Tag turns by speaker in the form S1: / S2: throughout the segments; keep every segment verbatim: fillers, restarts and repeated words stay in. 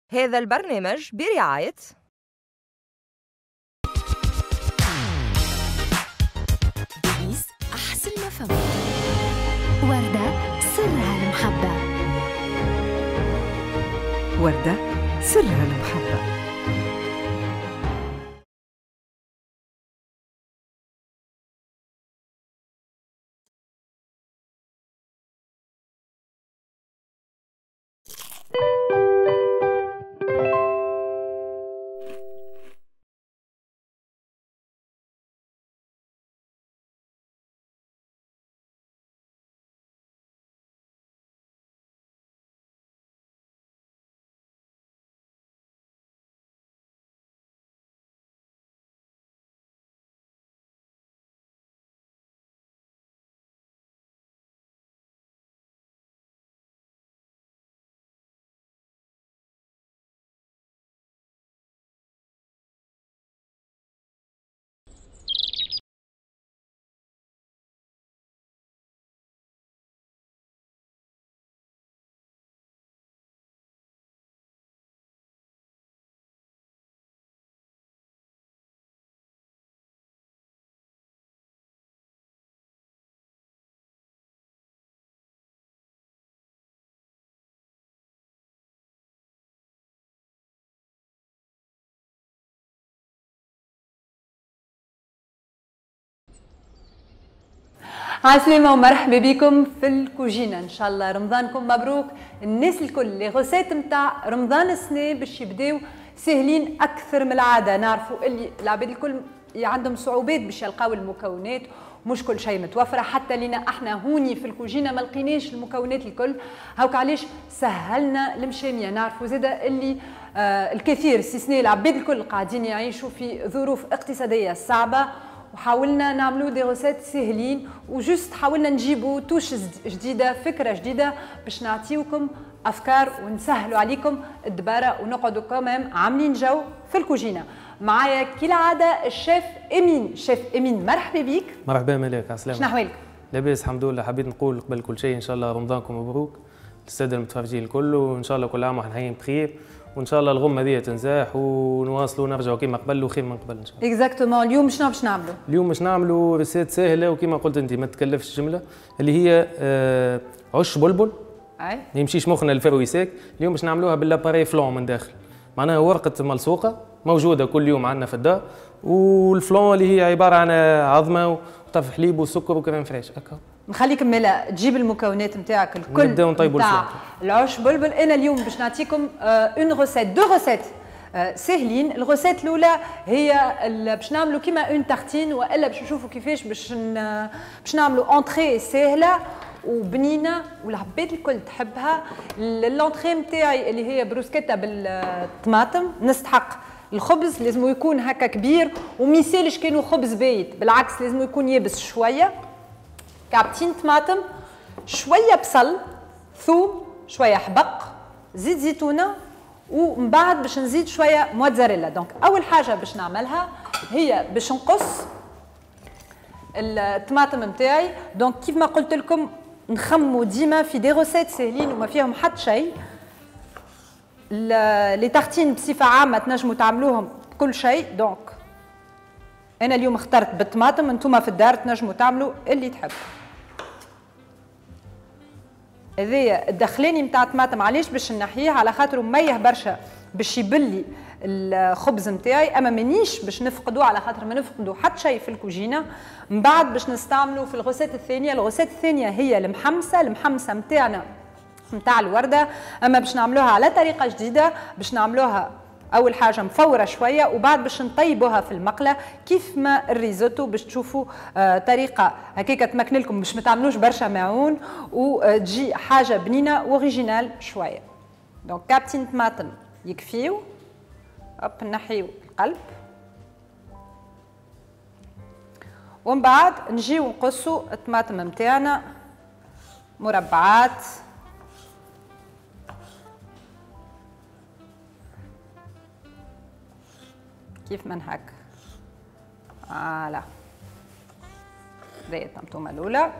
S1: هذا البرنامج برعاية
S2: ديليس أحسن ما فما، وردة سرها المحبة،
S3: وردة سرها المحبة.
S4: عسلامة ومرحبا بكم في الكوجينة. ان شاء الله رمضانكم مبروك. الناس الكل les recettes نتاع رمضان السنة باش يبداو ساهلين اكثر من العادة. نعرفوا اللي العباد الكل عندهم صعوبات باش يلقاو المكونات، مش كل شيء متوفرة، حتى لينا احنا هوني في الكوجينة ما لقيناش المكونات الكل. هاوك علاش سهلنا المشامية. نعرفوا زاده اللي آه الكثير استثناء العباد الكل قاعدين يعيشوا في ظروف اقتصادية صعبة، وحاولنا نعملوا des recettes ساهلين و juste حاولنا نجيبوا touche جديدة، فكرة جديدة باش نعطيوكم افكار ونسهلوا عليكم الدباره ونقعدوا quand même عاملين جو في الكوجينه. معايا كالعادة الشيف امين. شيف امين مرحبا بيك.
S5: مرحبا ملاك، عسلامة.
S4: شنو احوالك؟
S5: لاباس الحمد لله. حبيت نقول قبل كل شيء ان شاء الله رمضانكم مبروك للسادة المتفرجين الكل، وان شاء الله كل عام واحنا حيين بخير، وان شاء الله الغمة هذه تنزاح ونواصلوا ونرجعوا كيما قبل وخير من قبل ان شاء
S4: الله. exactement. اليوم شنو باش نعملوا؟
S5: اليوم باش نعملوا recette ساهله وكيما قلت انت ما تكلفش جملة، اللي هي آه عش بلبل.
S4: اي
S5: ما يمشيش مخنا ال fruits secs. اليوم باش نعملوها بال l'appareil flan من داخل، معناها ورقة ملصوقه موجودة كل يوم عندنا في الدار، وال flan اللي هي عبارة عن عظمه وطرف حليب وسكر و crème fraîche. هكا
S4: نخليك مالا تجيب المكونات نتاعك الكل،
S5: نبداو نطيبوا
S4: نتاع العش بلبل. انا اليوم باش نعطيكم une recette، deux recettes ساهلين. ال recette الاولى هي باش نعملوا كيما une tartine، والا باش نشوفوا كيفاش باش باش نعملوا entrée ساهله وبنينه والعباد الكل تحبها. l'entrée نتاعي اللي هي بروسكيتا بالطماطم. نستحق الخبز لازم يكون هكا كبير وميسالش كانوا خبز بايت، بالعكس لازم يكون يابس شوية. كعبتين طماطم، شوية بصل، ثوم، شوية حبق، زيت زيتونه، ومن بعد باش نزيد شوية موتزاريلا. donc اول حاجة باش نعملها هي باش نقص الطماطم نتاعي. donc كيف ما قلت لكم نخمو ديما في des recettes ساهلين وما فيهم حتى شيء. les tartines بصفة عامة تنجموا تعملوهم بكل شيء. donc انا اليوم اخترت بالطماطم، انتم في الدار تنجموا تعملوا اللي تحبوا. هذايا الدخلاني نتاع الطماطم علاش باش نحيه؟ على خاطر مية برشا باش يبلي الخبز نتاعي، اما مانيش باش نفقدو على خاطر ما نفقدو حتى شيء في الكوجينه. من بعد باش نستعملو في ال recette الثانية. ال recette الثانية هي المحمسه. المحمسه نتاعنا نتاع الورده، اما باش نعملوها على طريقه جديدة. باش نعملوها اول حاجة مفوره شوية وبعد باش نطيبوها في المقله كيف ما الريزوتو، باش تشوفوا آه طريقه هكاك تمكن لكم باش ما تعملوش برشا معون وتجي حاجة بنينه originale شوية. donc كابتين طماطم يكفيو. hop نحيو القلب ومن بعد نجيو نقصوا الطماطم نتاعنا مربعات. كيف من هكا. voilà هذه الطمطومه الاولى.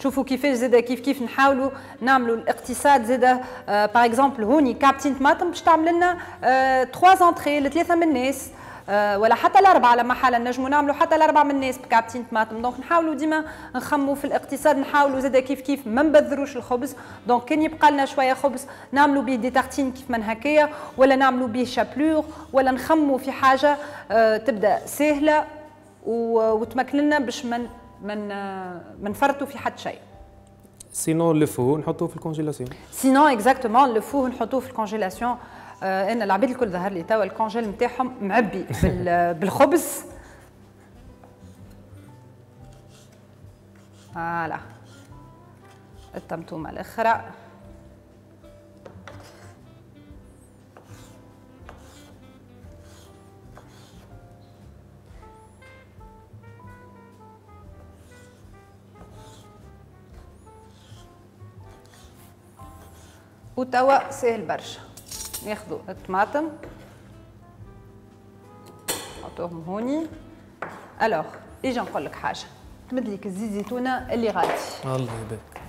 S4: شوفوا كيفاش زاد كيف كيف نحاولوا نعملوا الاقتصاد زاد. par exemple هوني كعبتين طماطم باش تعمل لنا ثلاثة entrées لثلاثة من الناس، ولا حتى الاربعة لما حالا نجموا نعملوا حتى الاربعة من الناس بكعبتين طماطم. donc نحاولوا ديما نخموا في الاقتصاد، نحاولوا زاد كيف كيف ما نبذروش الخبز. donc كان يبقى لنا شوية خبز نعملوا به des tartines كيف من هكايا، ولا نعملوا به chapelure، ولا نخموا في حاجة تبدا سهلة وتمكن لنا باش من من ما نفرطوا في حد شيء.
S5: sinon نلفوه نحطوه في ال congélation.
S4: sinon exactement نلفوه نحطوه في ال congélation. آه انا العباد الكل ظهر لي توا ال congèle نتاعهم معبي بالخبز. voilà الطمطومه الاخرى. وتوا ساهل برشا، ناخذوا الطماطم نحطوهم هوني. alors اجا نقول لك حاجة، تمد لك الزيت زيتونه اللي غادي.
S5: الله يبارك.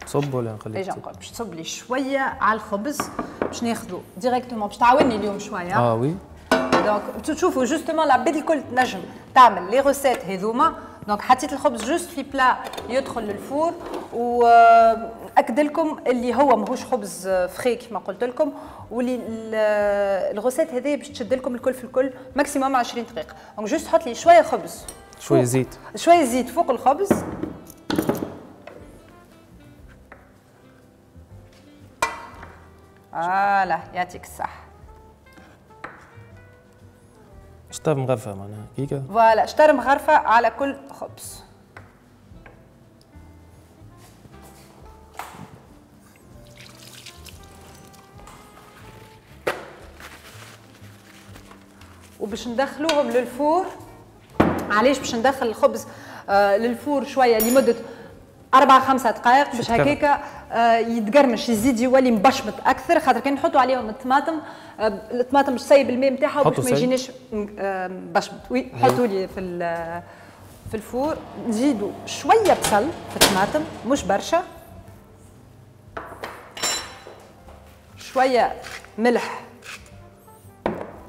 S5: تصب ولا نخليك؟
S4: اجا نقول باش تصب لي شوية على الخبز باش ناخذوا directement، باش تعاوني اليوم شوية.
S5: اه oui.
S4: donc تشوفوا justement العباد الكل تنجم تعمل les recettes هذوما. donc حطيت الخبز juste في plat يدخل لل four، واكد لكم اللي هو ماهوش خبز frais كما قلت لكم، واللي ال recette هذه باش تشد لكم الكل في الكل maximum عشرين دقيقة. donc juste حط لي شوية خبز،
S5: شوية زيت،
S4: شوية زيت فوق الخبز. voilà يعطيك الصحة.
S5: شطر مغرفه معناها كيكة.
S4: voilà شطر مغرفه على كل خبز. وباش ندخلوهم لل four. علاش باش ندخل الخبز آه لل four شوية لمدة أربع خمسة دقائق باش هكاكا آه يتقرمش، يزيد يولي مبشمط اكثر، خاطر كان نحطوا عليهم الطماطم آه الطماطم مش تسيب الماء نتاعها باش ما يجيناش مبشمط. oui حطوا لي في في ال four. نزيدوا شوية بصل في الطماطم، مش برشا، شوية ملح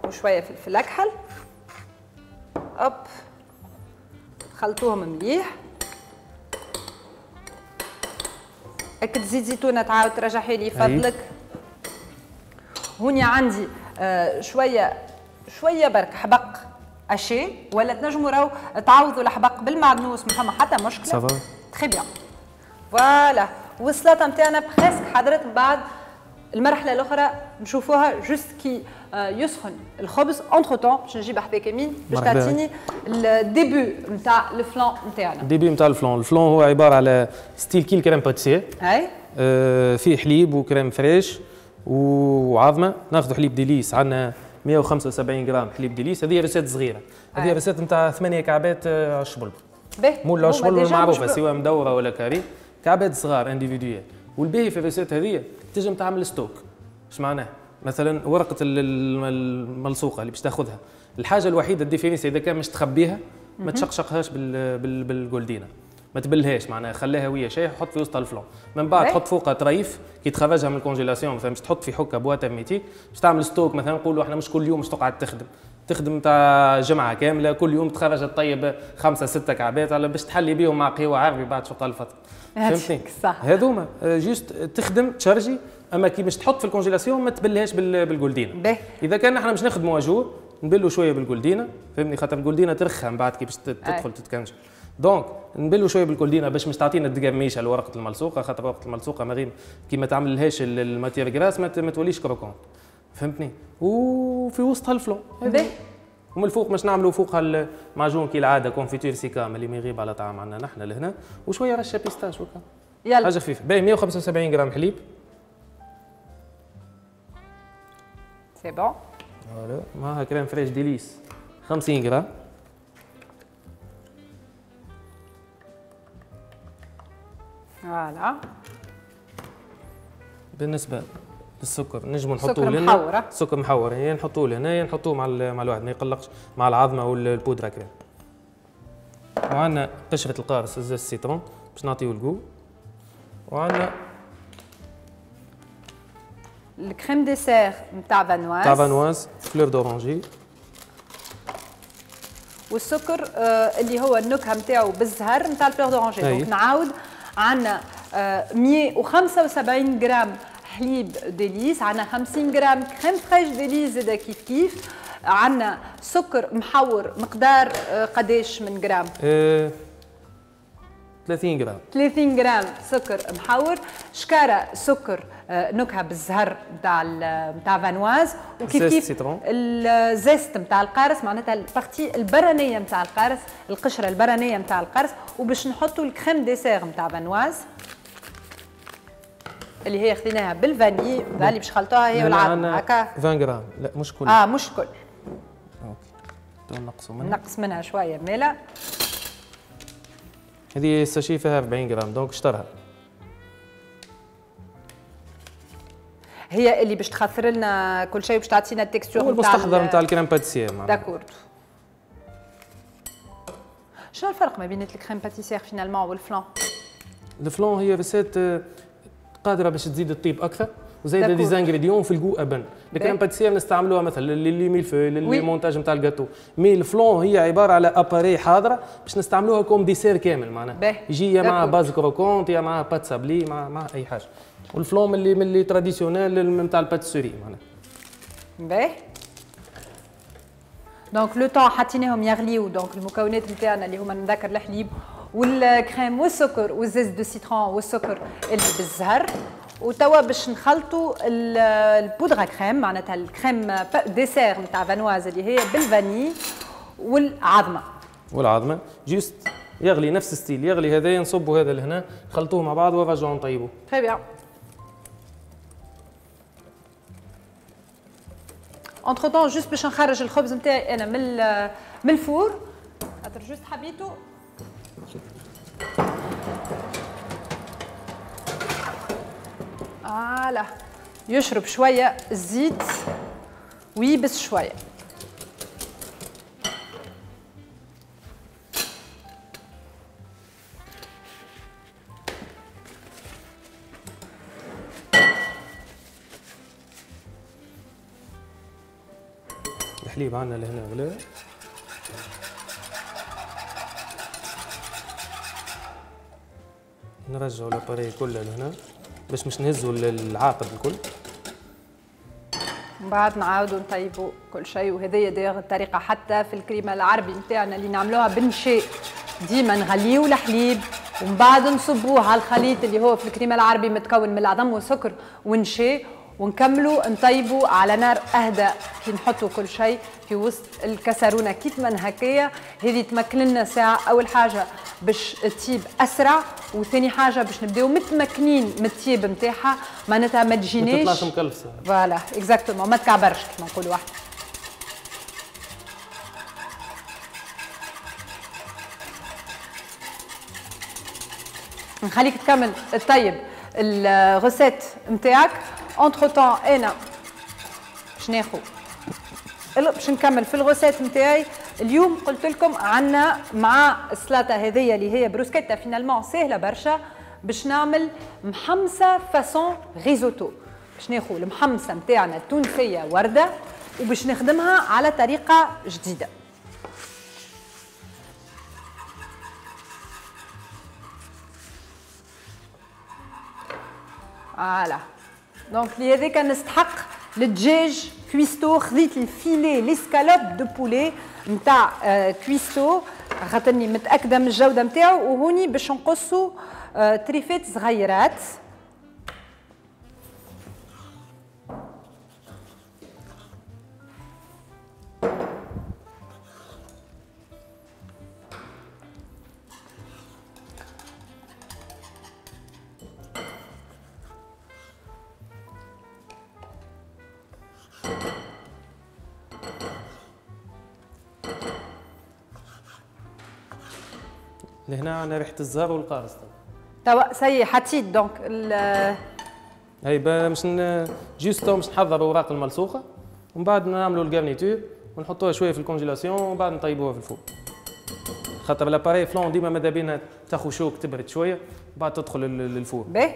S4: وشوية فلفل اكحل. hop خلطوهم مليح. اكد زيت زيتونه تعاود ترجعي لي فضلك. هوني عندي آه شوية شوية برك حبق haché، ولا تنجموا راهو تعوضوا الحبق بالمعدنوس، ما فما حتى مشكلة.
S5: ça va
S4: très bien. voilà والسلطة نتاعنا presque حضرت. من بعد المرحلة الاخرى نشوفوها juste كي يسخن الخبز. entre-temps باش نجيب حذاك امين باش تعطيني ال début نتاع ال flan نتاعنا.
S5: ال début نتاع ال flan، ال flan هو عبارة على style كي ال crème pâtissière.
S4: اي
S5: آه فيه حليب و crème fraîche وعظمه. ناخذ حليب ديليس، عندنا مية وخمسة وسبعين غرام حليب ديليس. هذه recette صغيرة، هذه recette نتاع ثمانية كعبات عشبل. مول العشبل المعروفة سواء مدورة ولا carré، كعبات صغار individuelles. والباهي في ال recette هذه تنجم تعمل stock. اش معناه؟ مثلا ورقة الملصوقه اللي باش تاخذها، الحاجة الوحيدة ال différence اذا كان مش تخبيها ما تشقشقهاش بال بال بالجولدينا، ما تبلهاش معناها، خليها وهي شايح وحط في وسط ال flan. من بعد تحط فوقها طريف كي تخرجها من ال congélation، مثلا باش تحط في حكه boîte hermétique باش تعمل stock. مثلا نقولوا احنا مش كل يوم باش تقعد تخدم، تخدم تاع جمعه كاملة، كل يوم تخرج تطيب خمسة ستة كعبات على باش تحلي بيهم مع قهوة عربي بعد شو قال الفترة. فهمتني؟
S4: صح.
S5: هذوما juste تخدم تشارجي، اما كي باش تحط في ال congélation ما تبلهاش بالجولدينا. اذا كان احنا باش نخدموا à jour نبلوا شوية بالجولدينا، فهمني؟ خاطر الجولدينا ترخى من بعد كي باش تدخل تتكنجل. donc نبلوا شوية بالجولدينا باش مش تعطينا الدقرميشه لورقه الملصوقه، خاطر ورقة الملصوقه ما غير كي ما تعملهاش ال matière grasse ما توليش croquante، فهمتني؟ وفي وسطها ال flan. ومن الفوق باش نعملوا فوقها المعجون كي العادة confiture سيكام اللي ما يغيب على طعام عندنا نحن لهنا، وشوية رشه pistache وكا.
S4: يلا
S5: حاجة خفيفة. باهي مية وخمسة وسبعين غرام حليب.
S4: c'est bon.
S5: voilà معها crème fraîche ديليس خمسين غرام.
S4: voilà
S5: بالنسبة للسكر نجموا نحطوه
S4: لنا محور.
S5: سكر محور يعني نحطوه لهنا، نحطوه مع مع الواحد ما يقلقش مع العظمة وال poudre crème. وعندنا قشرة القارص ال zeste citron باش نعطيو ال goût، وعندنا
S4: ال crème dessert نتاع Vanoise
S5: نتاع Vanoise fleur d'oranger،
S4: والسكر آه اللي هو النكهة نتاعو بالزهر نتاع ال fleur d'oranger. donc نعاود عندنا آه مية وخمسة وسبعين غرام حليب Délice، عندنا خمسين غرام crème fraîche Délice زاده كيف كيف، عندنا سكر محور مقدار آه قداش من غرام؟
S5: أه ثلاثين غرام.
S4: ثلاثين غرام سكر محور، شكاره سكر نكهة بالزهر نتاع نتاع Vanoise، وكيف كيف ال zeste نتاع القارص معناتها ال partie البرانيه نتاع القارص، القشرة البرانيه نتاع القارص، وباش نحطوا ال crème dessert نتاع Vanoise اللي هي خذيناها بال vanille اللي باش خلطوها هي والعظم هكا.
S5: عشرين غرام لا مش كل
S4: اه مش كل
S5: OK نقصوا منها
S4: نقص منها شوية مالا.
S5: هذه ال sachet فيها أربعين غرام donc اشترها
S4: هي اللي باش تخثر لنا كل شيء باش تعطينا ال texture
S5: نتاع المستحضر نتاع ال crème pâtissière.
S4: d'accord. شنو الفرق ما بين ال crème pâtissière finalement وال flan؟
S5: ال flan هي recette قادرة باش تزيد الطيب اكثر وزايده des ingrédients في ال goût ابن. ال crème pâtissière نستعملوها مثلا les mille-feuilles les montages نتاع ال gâteau، mais ال flan هي عبارة على appareil حاضره باش نستعملوها comme dessert كامل معناها يجي يا مع base croquante يا مع pâte sablée مع مع اي حاجة. وال flan من اللي من les traditionnels نتاع ال pâtisserie معناها.
S4: باهي donc le temps حطيناهم يغليو، donc المكونات نتاعنا اللي هما نذكر الحليب والكريم والسكر وال zeste de citron والسكر اللي بالزهر، وتوا باش نخلطوا ال poudre à crème معناتها ال crème dessert نتاع Vanoise اللي هي بال vanille والعظمة.
S5: والعظمة juste يغلي نفس style، يغلي هذايا نصبوا هذا لهنا نخلطوه مع بعض ونرجعوا نطيبوه.
S4: très bien. entre-temps juste باش نخرج الخبز نتاعي انا من من ال four خاطر juste حبيته. voilà يشرب شوية الزيت ويبس شوية.
S5: الحليب عندنا لهنا غلا. نرجعوا l'appareil كله لهنا باش مش نهزوا العاقد الكل.
S4: من بعد نعاودوا نطيبوا كل شيء، وهذه داير الطريقة حتى في الكريمة العربي نتاعنا اللي نعملوها بالنشاء، ديما نغليو الحليب ومن بعد نصبوه على الخليط اللي هو في الكريمة العربي متكون من العظم والسكر والنشاء، ونكملوا نطيبوا على نار اهدى كي نحطوا كل شيء في وسط الكسرونه كيف ما هكايا. هذه تمكن لنا ساعة، اول حاجة باش تطيب اسرع، وثاني حاجة باش نبداو متمكنين من الطيب نتاعها معناتها ما تجيناش
S5: ما تطلعش مكلفسه.
S4: voilà exactement، ما تكعبرش كيما نقولوا احنا. نخليك تكمل الطيب ال recette نتاعك. entre-temps انا باش ناخذ باش نكمل في ال recette نتاعي. اليوم قلت لكم عندنا مع السلطة هذيا اللي هي بروسكيتا finalement ساهله برشا، باش نعمل محمصه façon risotto. باش ناخذ المحمصه نتاعنا التونسية ورده وباش نخدمها على طريقه جديدة. voilà donc لهذاك نستحق الدجاج Cuisto. خذيت ال filet les escalopes de poulet نتاع Cuisto خاطرني متاكدة من الجودة نتاعو، وهوني باش نقصوا تريفات صغيرات.
S5: لهنا عندنا ريحه الزهر والقارص.
S4: توا ça y est حطيت donc ال
S5: هاي باش juste تو باش نحضر اوراق الملسوخه ومن بعد نعملوا ال garniture ونحطوها شوية في ال congélation ومن بعد نطيبوها في ال four. خاطر l'appareil flan ديما ماذا بينا تاخذ choc تبرد شوية بعد تدخل لل four.
S4: باهي.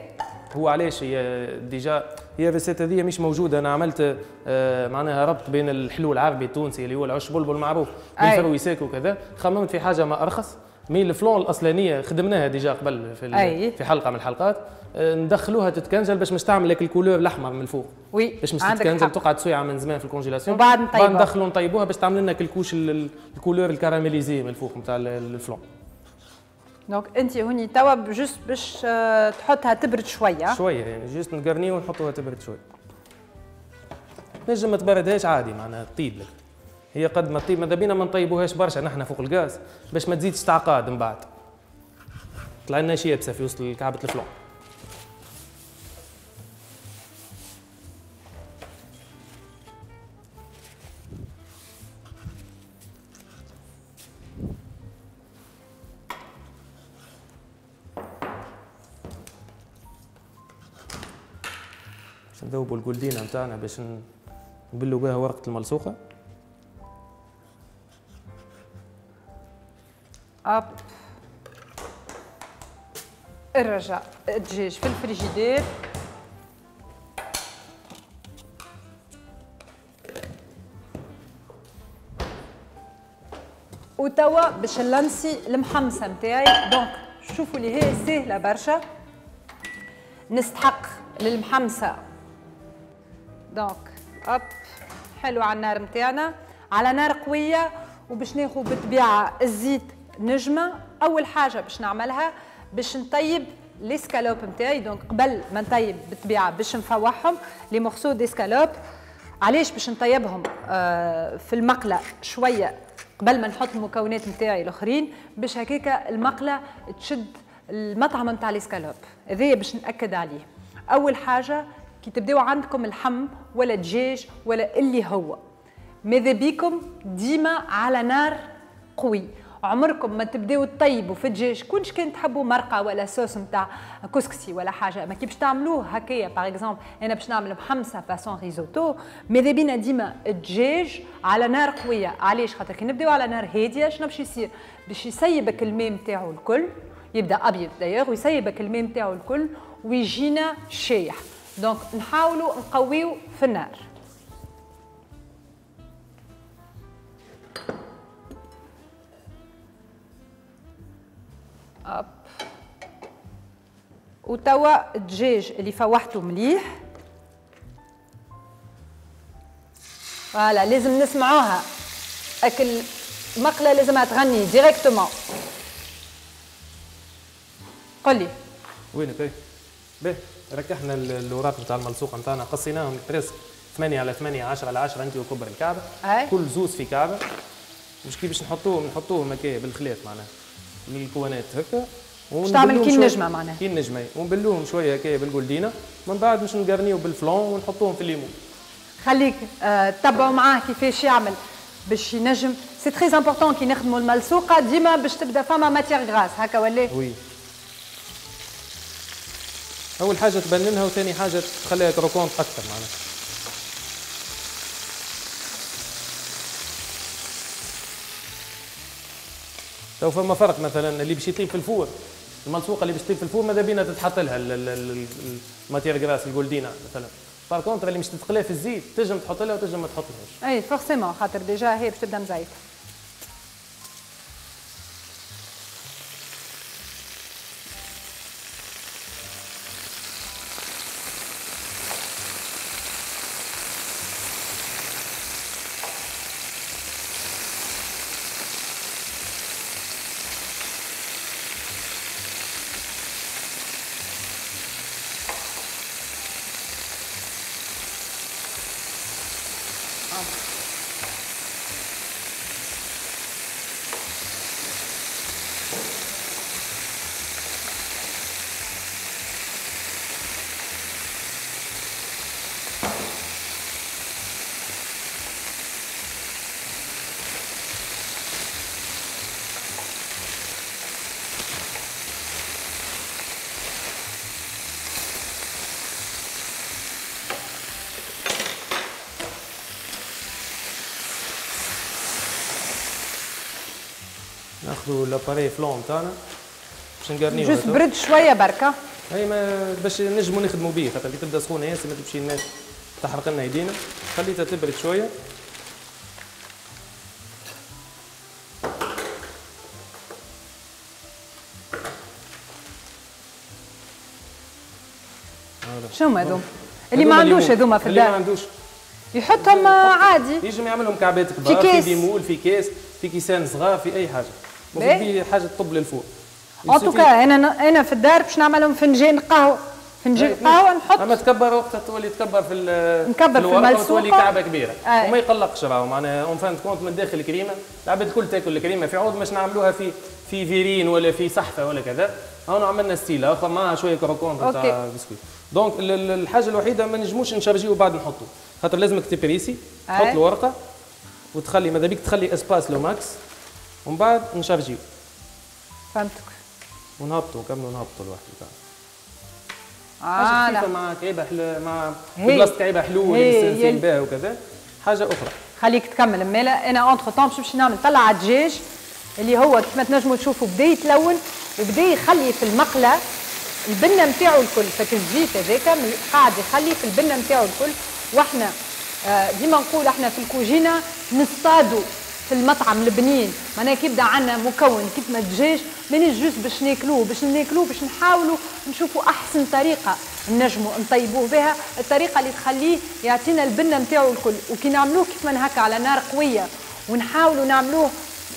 S5: هو علاش هي déjà هي recette هذه مش موجودة، انا عملت آه معناها ربط بين الحلو العربي التونسي اللي هو العش بلبل المعروف بال fruits secs وكذا، خممت في حاجة ما ارخص mais ال flan الاصلانيه خدمناها déjà قبل في أي. في حلقة من الحلقات، آه ندخلوها تتكنجل باش مش تعمل لك ال couleur الاحمر من الفوق.
S4: oui
S5: باش مش تتكنجل تقعد سويعه من زمان في ال congélation،
S4: وبعد نطيبوها،
S5: بعد ندخلوا نطيبوها باش تعمل لنا ال couche ال couleur ال caramélisée من الفوق نتاع ال flan.
S4: donc انت هوني توا juste باش تحطها تبرد شوية
S5: شوية يعني juste نقرنيو ونحطوها تبرد شوية. تنجم ما تبردهاش عادي معناها تطيب لك هي قد ما تطيب، ماذا بينا ما نطيبوهاش برشا نحن فوق الغاز باش ما تزيدش تعقاد من بعد طلع لنا شي يابسة في وسط كعبه ال flan. باش نذوبوا الجولدينا نتاعنا باش نبلوا بها ورقة الملصوقه.
S4: hop الرجع الدجاج في الفريجيدير. وتوا باش نلمسي المحمصه نتاعي. donc شوفوا اللي هي ساهله برشا. نستحق للمحمصه donc hop حلو على النار نتاعنا على نار قوية، وباش ناخذ بالطبيعة الزيت نجمه. اول حاجة باش نعملها باش نطيب les escalopes نتاعي. donc قبل ما نطيب بالطبيعة باش نفوحهم les morceaux d'escalope. علاش باش نطيبهم آه في المقله شوية قبل ما نحط المكونات نتاعي الاخرين، باش هكاكا المقله تشد المطعم نتاع الاسكالوب. هذايا باش ناكد عليه. اول حاجة كي تبداو عندكم اللحم ولا دجاج ولا اللي هو، ماذا بيكم ديما على نار قوي. عمركم ما تبداو تطيبوا في الدجاج كونش كان تحبوا مرقه ولا صوص نتاع كسكسي ولا حاجة، ما كي باش تعملوه هكايا. par exemple انا باش نعمل محمصه façon risotto، ماذا بينا ديما الدجاج على نار قوية. علاش؟ خاطر كي نبداو على نار هادية شنو باش يصير؟ باش يسيبك الماء نتاعو الكل، يبدا ابيض d'ailleurs ويسيبك الماء نتاعو الكل ويجينا شايح. donc نحاولوا نقويو في النار. hop وتوا الدجاج اللي فوحته مليح voilà لازم نسمعوها، اكل مقلة لازمها تغني directement. قل لي
S5: وينك؟ اي باهي ركحنا الاوراق نتاع الملصوقه نتاعنا، قصيناهم presque ثمانية على ثمانية عشرة على عشرة انت وكبر الكعبة.
S4: أي.
S5: كل زوز في كعبه. مش كي باش نحطوهم نحطوهم هكايا بالخلاف معناها الكوانات هكا،
S4: باش تعمل كي النجمة معناها
S5: كي النجمة، ونبلوهم شوية هكايا بالجولدينا، من بعد باش نقرنيو بال flan ونحطوهم في الليمون.
S4: خليك آه تبعوا معاه كيفاش يعمل باش ينجم. c'est très important كي نخدموا الملصوقه ديما باش تبدا فما matière grasse هكا ولا؟
S5: oui. اول حاجة تبننها وثاني حاجة تخليها croquante اكثر معناها. تو فما فرق مثلا اللي باش يطيب في ال four، الملصوقه اللي باش تطيب في ال four ماذا بينا تتحط لها ال matière grasse الجولدينا مثلا. par contre اللي مش تتقلى في الزيت تنجم تحط لها وتنجم ما تحطلهاش.
S4: اي forcément خاطر déjà هي باش تبدا مزيته.
S5: ناخذوا l'appareil flan تاعنا باش نقرنيو
S4: juste برد شوية بركة.
S5: اي ما باش نجموا نخدموا به، خاطر كي تبدا سخونة ياسر ما تمشي لناش تحرق لنا يدينا. خليتها تبرد شوية.
S4: شنو هما هذوما؟ اللي ما عندوش هذوما في الدار،
S5: اللي ما عندوش
S4: يحطهم عادي،
S5: ينجم يعملهم كعبات كبار، في, في des moules، في كاس، في كيسان صغار، في اي حاجة، في حاجة تطب لل four.
S4: en tout cas انا انا في الدار باش نعملهم فنجان قهوة، فنجان قهوة نحط،
S5: اما تكبر وقتها تولي تكبر في
S4: نكبر في الملسوقه
S5: تولي كعبه كبيرة. آه. وما يقلقش راهو، معناها en fin de compte من داخل الكريمة العباد الكل تاكل الكريمة، في عوض باش نعملوها في في verrine ولا في صحفه ولا كذا، هون عملنا style اخر معها شوية croquant تاع biscuit. donc الحاجة الوحيدة ما نجموش نشارجيو وبعد نحطو، خاطر لازمك تبريسي، تحط الورقة وتخلي ماذا بيك تخلي espace le max ومن بعد نشارجيو.
S4: فهمتك.
S5: ونهبطوا نكملوا نهبطوا الواحد تاعنا.
S4: آه
S5: حاجة مع كعيبه حلو، مع بلاصة كعيبه حلو اللي مستانسين بها وكذا، حاجة اخرى.
S4: خليك تكمل مالا. انا entre-temps باش نمشي نعمل طلع الدجاج اللي هو كيف ما تنجموا تشوفوا بدا يتلون وبدا يخلي في المقله البنه نتاعو الكل، فك الزيت هذاك قاعد يخلي في البنه نتاعو الكل. واحنا ديما نقول احنا في الكوجينه نصطادوا في المطعم البنين، معناها كي يبدا عندنا مكون كيف ما الدجاج مانيش juste باش ناكلوه، باش ناكلوه باش نحاولوا نشوفوا احسن طريقه نجموا نطيبوه بها، الطريقة اللي تخليه يعطينا البنه نتاعو الكل. وكي نعملوه كيف ما هكا على نار قوية ونحاولوا نعملوه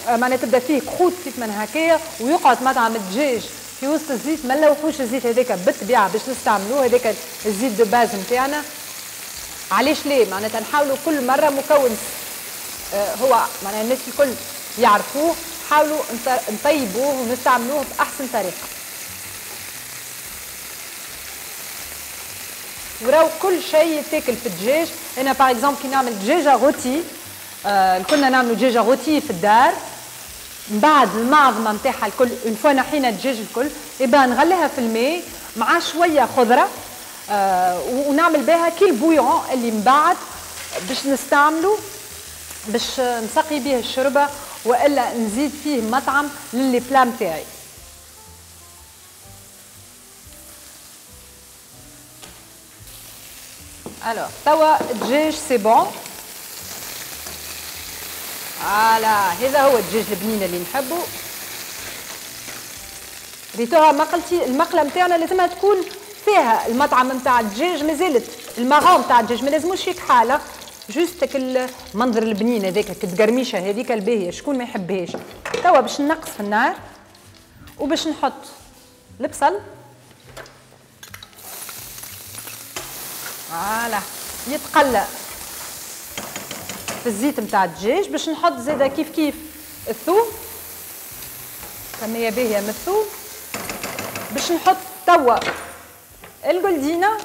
S4: معناها تبدا فيه croûte كيف ما هكايا ويقعد مطعم الدجاج في وسط الزيت، ما نلوحوش الزيت هذاك بالطبيعة باش نستعملوه هذاك الزيت de base نتاعنا. علاش ليه؟ معناتها نحاولوا كل مرة مكون هو معناها الناس الكل يعرفوه، حاولوا نطيبوه ونستعملوه باحسن طريقه. وراو كل شيء يتاكل في الدجاج. انا par exemple كي نعمل دجاجه rôtie، آه كنا نعملوا دجاجه rôtie في الدار، من بعد المعظمه نتاعها الكل une fois نحينا الدجاج الكل يبقى نغليها في الماء مع شوية خضرة، آه ونعمل بها كي ال bouillon اللي من بعد باش نستعملو باش نسقي به الشوربة والا نزيد فيه مطعم ل les plats نتاعي. alors توا الدجاج c'est bon. voilà هذا هو الدجاج البنين اللي نحبه. ريتوها مقلتي، المقله نتاعنا لازمها تكون فيها المطعم نتاع الدجاج، مازالت ال marron نتاع الدجاج ما لازموش يكحاله، juste المنظر البنين هذاك التقرميشه هذيك الباهيه شكون ما يحبهاش. توا باش نقص في النار وباش نحط البصل. voilà يتقلى في الزيت نتاع الدجاج. باش نحط زاده كيف كيف الثوم، كمية باهيه من الثوم. باش نحط توا الجولدينا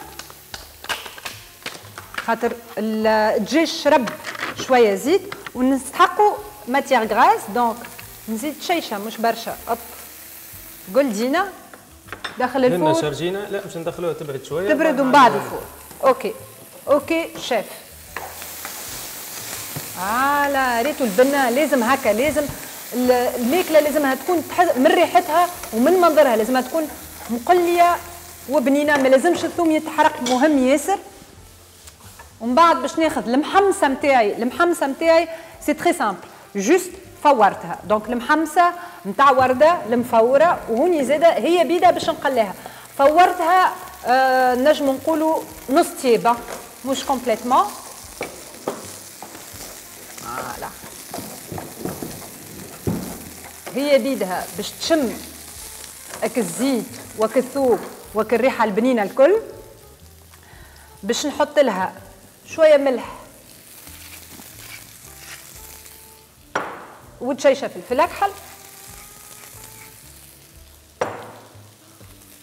S4: خاطر الدجاج شرب شوية زيت ونستحقوا matière grasse، donc نزيد شيشة مش برشا. hop جولدينا داخل ال four.
S5: شارجينا لا باش ندخلوها تبرد شوية،
S4: تبرد ومن بعد ال four. OK OK chef. voilà ريتو البنه لازم هكا، لازم الماكلة لازمها تكون من ريحتها ومن منظرها لازمها تكون مقلية وبنينه، ما لازمش الثوم يتحرق، مهم ياسر. ومن بعد باش ناخذ المحمصه نتاعي، المحمصه نتاعي c'est très simple، juste فورتها. donc المحمصه نتاع ورده المفوره، وهوني زاده هي بيده باش نقليها، فورتها آه نجم نقولوا نص طيبة مش complètement. voilà هي بيدها باش تشم اك الزيت وك الثوم وك الريحة البنينه الكل. باش نحط لها شوية ملح وتشيشه فلفل اكحل.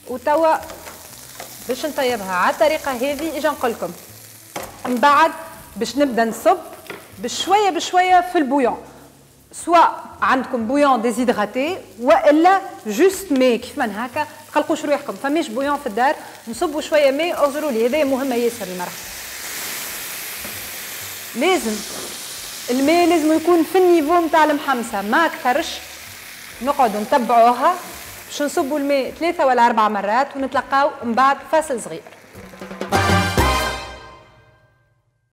S4: وتوا باش نطيبها على الطريقة هذه اجا نقول لكم من بعد باش نبدا نصب بشوية بشوية في ال bouillon، سواء عندكم bouillon déshydraté والا juste ماء كيف من هكا، تقلقوش روحكم فماش bouillon في الدار نصبوا شوية ماء. اغزروا لي هذا مهمة ياسر المرحلة، لازم الماء لازم يكون في ال niveau نتاع المحمصه ما اكثرش نقعدوا نتبعوها باش نصبوا الماء ثلاثة ولا أربع مرات، ونتلقاو من بعد فاصل صغير.